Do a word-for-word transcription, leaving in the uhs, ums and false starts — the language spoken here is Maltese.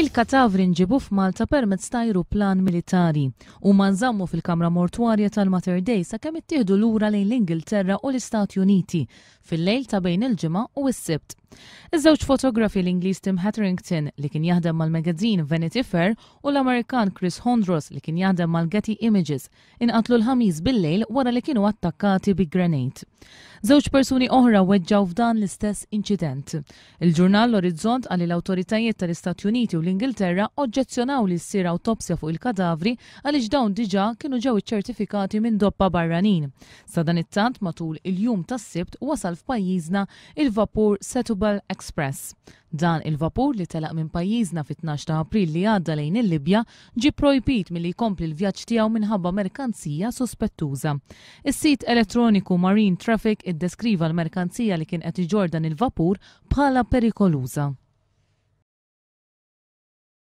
Il-katavri nġibu f'Malta permezz ta' ajruplan militari u nżammu fil-kamra mortwarja tal-Mater Dei sakemm ittieħdu lura lejn l-Ingilterra u l-Istati Uniti fil-lejl ta' bejn il-Ġimgħa u s-Sibt. Iż-żewġ fotografi, l-Ingliż Tim Hetherington li kien jaħdem mal-magazine Vanity Fair u l-Amerikan Chris Hondros li kien jaħdem mal-Getty Images, inqatlu l-Ħamis bil-lejl wara li kienu attakkati bi grenade. Żewġ persuni oħra weġġaw f'dan l-istess inċident. Il-ġurnal L-Orizzont qal li l-awtoritajiet tal-Istati Uniti u l-Ingilterra oġġezzjonaw li ssir awtopsja fuq il-kadavri għaliex dawn diġà kienu ġew iċċertifikati minn tobba barranin. Sadanittant, matul il-jum tas-Sibt wasal f'pajjiżna il-vapur Setubal Express. Dan il-vapur, li telaq minn pajjiżna fit-tnax ta' April li għadda lejn il-Libja, ġi projbit milli jkompli l-vjaġġ tiegħu minħabba merkanzija sospettuża. Is-sit elettroniku Marine Traffic iddeskriva l-merkanzija li kien qed iġorr dan il-vapur bħala perikoluża.